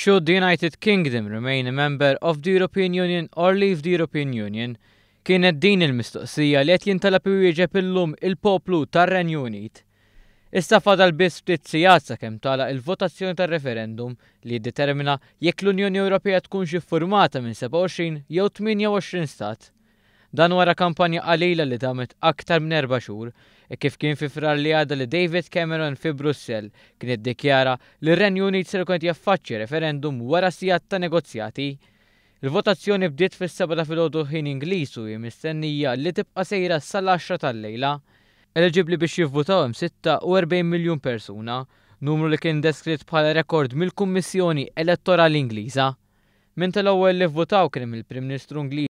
Should the United Kingdom remain a member of the European Union or leave the European Union? Kienet din il-mistoqsija li qed jintalab iwieġeb illum il-poplu tar-Renju Unit. Issa fadal biss ftit sigħat sakemm tagħlaq il-votazzjoni tar-referendum li jiddetermina jekk l-Unjoni Ewropea tkunx iffurmata minn 27 jew 28 stat. Dan wara kampanja qalila li damet aktar minn erba' xhur, hekk kif kien fi Frar li għadda li David Cameron fi Brussell kien iddikjara li r-Renju Unit ser ikun qed jaffaċċja referendum wara sigħat ta' negozjati. Il-votazzjoni bdiet fis-sebgħa ta' filgħodu ħin Ingliż u hi mistennija li tibqa' sejra sal-għaxra tal-lejla. Eliġibbli biex jivvutaw hemm 46 miljun persuna, numru li kien deskritt bħala rekord mill-Kummissjoni Elettorali Ingliża. Minn tal-ewwel li vvutaw kien hemm il-Prim Ministru Ingliż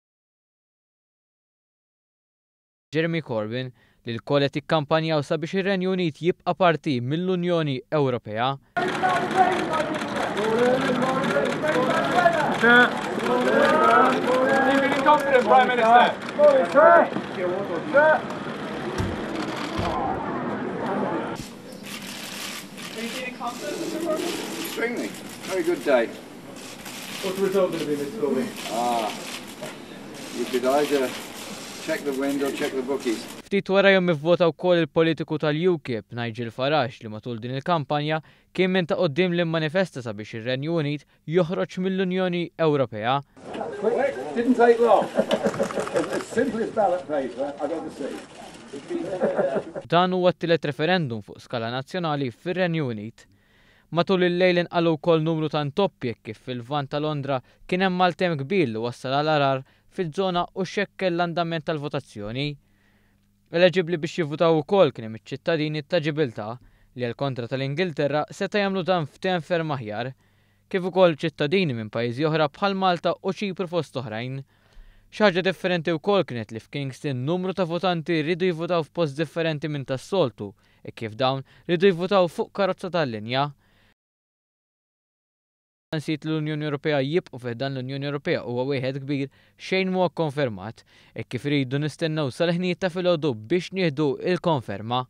Jeremy Corbyn li lkoll qed jikkampanjaw sabiex ir-Renju Unit jibqa' parti mill-Unjoni Ewropea. Extremely. Very good day. What's the result going to be, Mr. Corbyn? Ah, you could either check the wind or check the bookies. Ftit warajhom ivvota wkoll il-politiku tal-UKIP, Nigel Farage, li matul din il-kampanja kien minn ta' quddiem li mmanifesta sabiex ir-Renju Unit joħroġ mill-Unjoni Ewropea. Didn't take long. It's the simplest ballot paper I've ever seen. Dan huwa t-tielet referendum fuq skala nazzjonali fir-Renju Unit. Matul il-lejl inqalgħu wkoll numru ta' intoppi hekk kif fil-Lvant ta' Londra kien hemm maltemp kbir li wassal għal għargħar fiż-żona u xekkel l-andament tal-votazzjoni. Eleġibbli biex jivvutaw ukoll kien hemm iċ-ċittadini ta' Ġibiltà li għall-kontra tal-Ingilterra seta' jagħmlu dan f'temp ferm aħjar, kif ukoll ċittadini minn pajjiżi oħra bħal Malta u Ċipru fost oħrajn. Xi ħaġa differenti wkoll kienet li f'Kingston numru ta' votanti riedu jivvutaw f'post differenti minn tas-soltu hekk kif dawn riedu jivvutaw fuq karozza tal-linja. Nsiet li l-Unjoni Ewropea jibqgħu fi ħdan l-Unjoni Ewropea huwa wieħed kbir, xejn mhuwa kkonfermat, hekk kif irridu nistennew sal-ħinijiet ta' filgħodu biex nieħdu l-konferma.